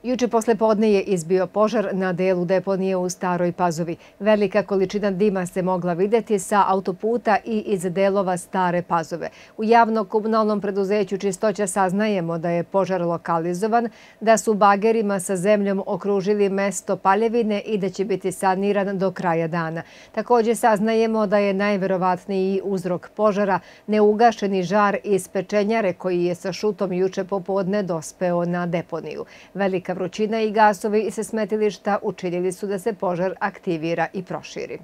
Juče posle podne je izbio požar na delu deponije u Staroj Pazovi. Velika količina dima se mogla vidjeti sa autoputa i iz delova Stare Pazove. U javno-komunalnom preduzeću Čistoća saznajemo da je požar lokalizovan, da su bagerima sa zemljom okružili mesto paljevine i da će biti saniran do kraja dana. Također saznajemo da je najverovatniji uzrok požara neugašeni žar iz pečenjare koji je sa šutom juče popodne dospeo na deponiju. Velika vrućina i gasovi sa smetilišta učinili su da se požar aktivira i proširi.